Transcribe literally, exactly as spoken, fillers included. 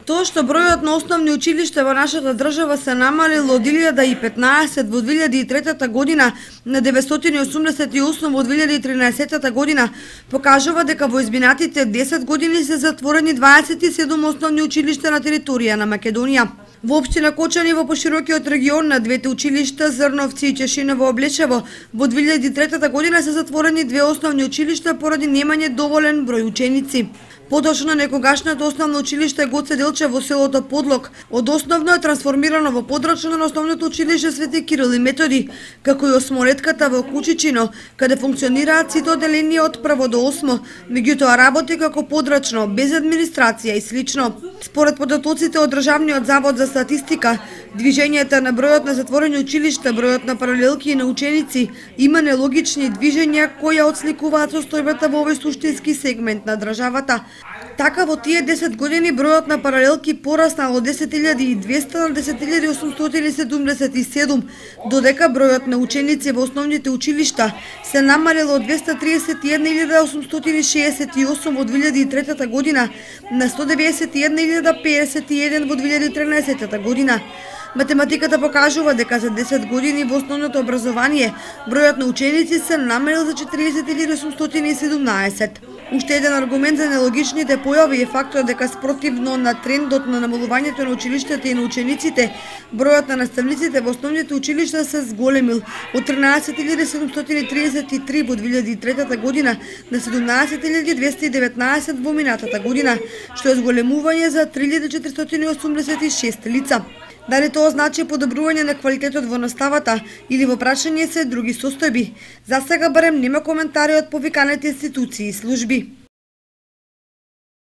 Тоа што бројот на основни училишта во нашата држава се намалил од илјада и петнаесет во две илјади и трета година на деветстотини и осумдесет и осум во две илјади и тринаесета година, покажува дека во изминатите десет години се затворени дваесет и седум основни училишта на територија на Македонија. Во општина Кочани во поширокиот регион на двете училишта Зрновци и Чешиново Облечево во две илјади и трета година се затворени две основни училишта поради немање доволен број ученици. Подоцна некогашното основно училиште Гоце Делчев во селото Подлог од основно е трансформирано во подрачно на основното училиште Свети Кирил и Методи, како и осмолетката во Кучичино, каде функционираат сите одделенија од прво до осмо, меѓутоа работи како подрачно, без администрација и слично. Според податоците од Државниот завод за статистика, движењето на бројот на затворени училишта, бројот на паралелки и на ученици има нелогични движења кои отсликуваат состојбата во овој суштински сегмент на државата. Така во тие десет години бројот на паралелки пораснал од десет илјади и двесте на десет илјади осумстотини седумдесет и седум, додека бројот на ученици во основните училишта се намалил од двесте триесет и една илјада осумстотини шеесет и осум во две илјади и трета година на сто деветдесет и една илјада пеесет и еден во две илјади и тринаесета година. Математиката покажува дека за десет години во основното образование бројот на ученици се намалил за четириесет илјади осумстотини и седумнаесет. Уште еден аргумент за нелогичните појави е фактот дека спротивно на трендот на намалувањето на училиштата и на учениците, бројот на наставниците во основните училишта се зголемил од тринаесет илјади седумстотини триесет и три во две илјади и трета година на седумнаесет илјади двесте и деветнаесет во минатата година, што е зголемување за три илјади четиристотини осумдесет и шест лица. Дали тоа значи подобрување на квалитетот во наставата или во прашање се други состојби? За сега барем нема коментари од повиканите институции и служби.